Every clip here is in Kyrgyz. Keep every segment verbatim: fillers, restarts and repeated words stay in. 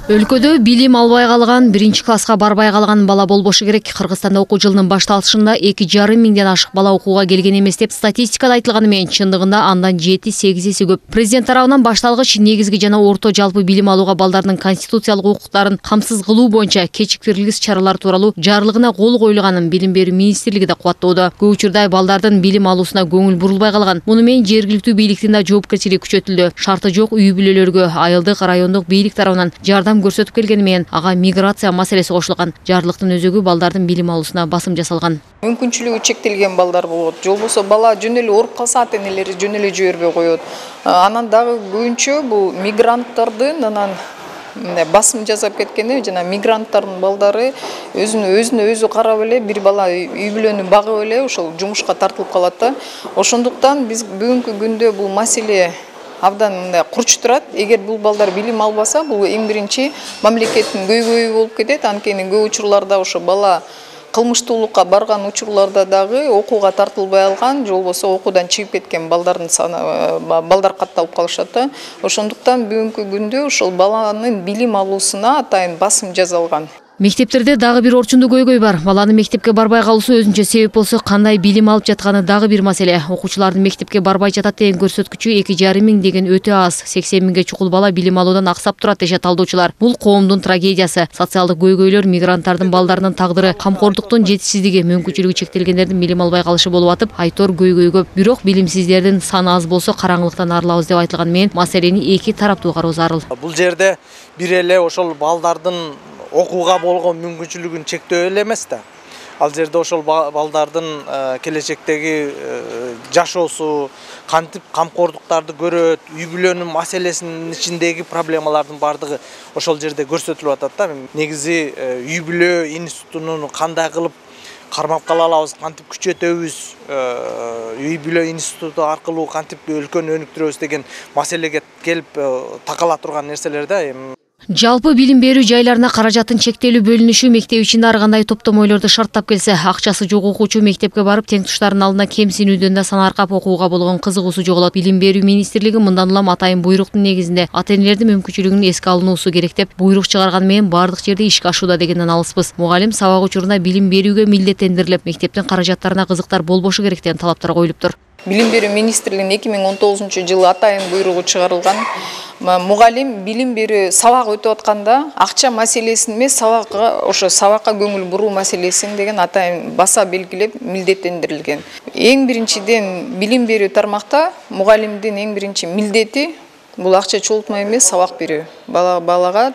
Өлкөдө билим албай калган, биринчи класска барбай калган бала болбошу керек. Кыргызстанда окуу жылынын башталышында эки жарым миңден ашык бала окууга келген эмес деп статистикада айтылганы менен чындыгында андан жети сегиз эсе көп. Президент тарабынан башталгыч негизги жана орто жалпы билим алууга балдардын конституциялык укуктарын камсыз кылуу боюнча кечиктирилгис чаралар тууралуу жарлыгына кол коюлганын Билим берүү министрлиги да кубаттоодо. Көп учурда балдардын билим алуусуна көңүл бурулбай калган. Муну менен жергиликтүү бийликтин да жоопкерчилиги күчөтүлдү. Шарты жок үй бүлөлөргө айылдык райондук бийлик тарабынан жардам көрсөтүп келгени менен ага миграция маселеси кошулган. Жарлыктын өзөгү балдардын билим алуусуна басым жасалган. Мүмкүнчүлүгү чектелген балдар болот. Жол болсо бала жөн эле ооруп калса ата-энелери жөн эле жибербей коет. Анан дагы көбүнчө бул мигранттардын анан басым жасап кеткени жана мигранттардын балдары өзүнө өзүнө өзү карап эле бир бала үй бүлөнү багып эле ошол жумушка тартылып калат да. Ошондуктан биз бүгүнкү күндө бул маселе абдан мындай курч турат. Эгер бул балдар билим албаса, бул эң биринчи мамлекеттин көйгөйү болуп кетет. Анткени көп учурларда ошо бала кылмыштуулукка барган учурларда дагы окууга тартылбай алган, жол болсо окуудан чыгып кеткен балдардын саны балдар катталып калышат да. Ошондуктан бүгүнкү күндө ошол баланын билим алуусуна атайын басым жасалган. Мектептерде дагы бир орчундуу көйгөй бар. Баланын мектепке барбай калуусу өзүнчө себеп болсо, кандай билим алып жатканы дагы бир маселе. Окуучулардын мектепке барбай жатат деген көрсөткүчү эки жарым миң деген өтө аз. сексен миңге чукул бала билим алуудан аксап турат дешет талдоочулар. Бул коомдун трагедиясы. Социалдык көйгөйлөр, мигранттардын балдарынын тагдыры, камкордуктун жетишсиздиги, мүмкүнчүлүгү чектелгендердин билим албай калышы болуп атып, айтор көйгөй көп. Бирок билимсиздердин саны аз болсо караңгылыктан арылабыз деп айтылган менен маселени эки тараптуу кароо зарыл. Бул жерде бир эле ошол балдардын окууга болгон мүмкүнчүлүгүн чектөө эле эмес да. Ал жерде ошол балдардын келечектеги жашоосу, кантип камкордуктарды көрөт, үй бүлөнүн маселесинин ичиндеги проблемалардын бардыгы ошол жерде көрсөтүлүп атат да. Негизи үй бүлө институтунун кандай кылып кармап кала алабыз, кантип күчөтөбүз, үй бүлө институту аркылуу кантип өлкөнү өнүктүрөбүз деген маселеге келип такала турган нерселер да. Жалпы билим берүү жайларына каражаттын чектелүү бөлүнүшү мектеп ичинде ар кандай топтомойлорду шарттап келсе, акчасы жок окуучу мектепке барып теңтуштарынын алдына кемсинүүдөн да санаркап окууга болгон кызыгуусу жоголот. Билим берүү министрлиги мындан улам атайын буйруктун негизинде ата-энелердин мүмкүнчүлүгүнүн эске алынуусу керек деп буйрук чыгарган менен бардык жерде ишке ашууда дегенден алыспыз. Мугалим сабак учурунда билим берүүгө милдеттендирилип, мектептин каражаттарына кызыктар болбошу керек деген талаптар коюлуптур. Билим берүү министрлигинин эки миң он тогузунчу жылы атайын буйругу чыгарылган. Мугалим билим берүү сабак өтүп атканда акча маселесин эмес, сабакка ошо сабакка көңүл буруу маселесин деген атайын баса белгилеп милдеттендирилген. Эң биринчиден билим берүү тармакта мугалимдин эң биринчи милдети бул акча чогултма эмес, сабак берүү. Бала балага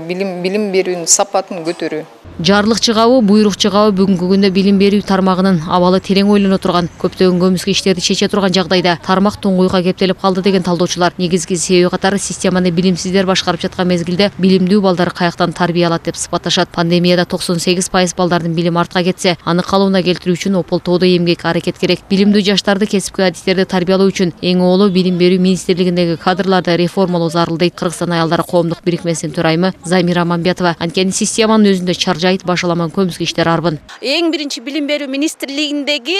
билим билим берүүнүн сапатын көтөрүү. Жарлык чыгабы, буйрук чыгабы бүгүнкү күндө билим берүү тармагынын абалы терең ойлоно турган, көптөгөн көмүскө иштерди чече турган жагдайда тармак туңгуйга кептелип калды деген талдоочулар. Негизги себеби катары системаны билимсиздер башкарып жаткан мезгилде билимдүү балдар каяктан тарбия алат деп сыпатташат. Пандемияда токсон сегиз пайыз балдардын билим артка кетсе, аны калыбына келтирүү үчүн ополтоодо эмгек, аракет керек. Билимдүү жаштарды кесипки адистерди тарбиялоо үчүн эң оолу билим берүү министрлигиндеги кадрларды реформалоо зарыл дейт Кыргызстан аялдары коомдук бирикмесинин төрайымы Замира Мамбетова. Анткени системанын өзүндө чаржайыт башаламан көмүскө иштер арбын. Эң биринчи билим берүү министрлигиндеги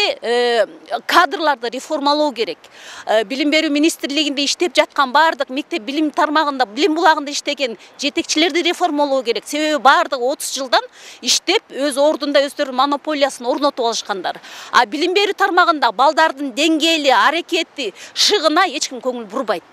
кадрларды реформалоо керек. Билим берүү министрлигинде иштеп жаткан бардык мектеп билим тармагында, билим булагында иштеген жетекчилерди реформалоо керек. Себеби бардыгы отуз жылдан иштеп, өз ордунда өздөрүнүн монополиясын орнотуп алышкандар. А билим берүү тармагында балдардын деңгээли, аракети, шыгына эч ким көңүл бурбайт.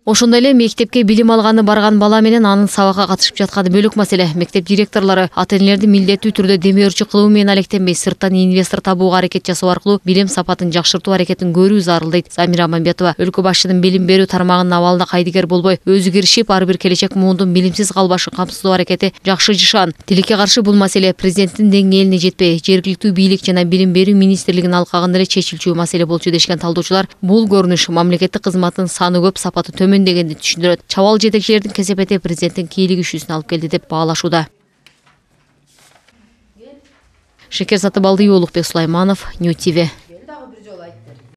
Ошондой эле мектепке билим алганы барган бала менен анын сабакка катышып жатканы бөлөк маселе. Мектеп директорлору ата-энелерди милдеттүү түрдө демөөрчү кылуу менен алектенбей, сырттан инвестор табууга аракет жасоо аркылуу билим сапатын жакшыртуу аракетин көрүү зарыл дейт Замира Мамбетова. Өлкө башчынын билим берүү тармагынын абалына кайдыгер болбой, өзү киришип, ар бир келечек муундун билимсиз калбашын камсыздоо аракети жакшы жышаан. Тилекке каршы бул маселе президенттин деңгээлине жетпей, жергиликтүү бийлик жана билим берүү министрлигинин алкагында эле чечилчү маселе болчу дешкен талдоочулар. Бул көрүнүш мамлекеттик кызматтын саны көп, сапаты төмөн дегенди түшүндүрөт. Чабал жетекчилердин кесепети президенттин кийлигишүүсүнө алып келди деп баалашууда. Шекер Сатыбалдиева, Улукбек Сулайманов, Нью ти ви.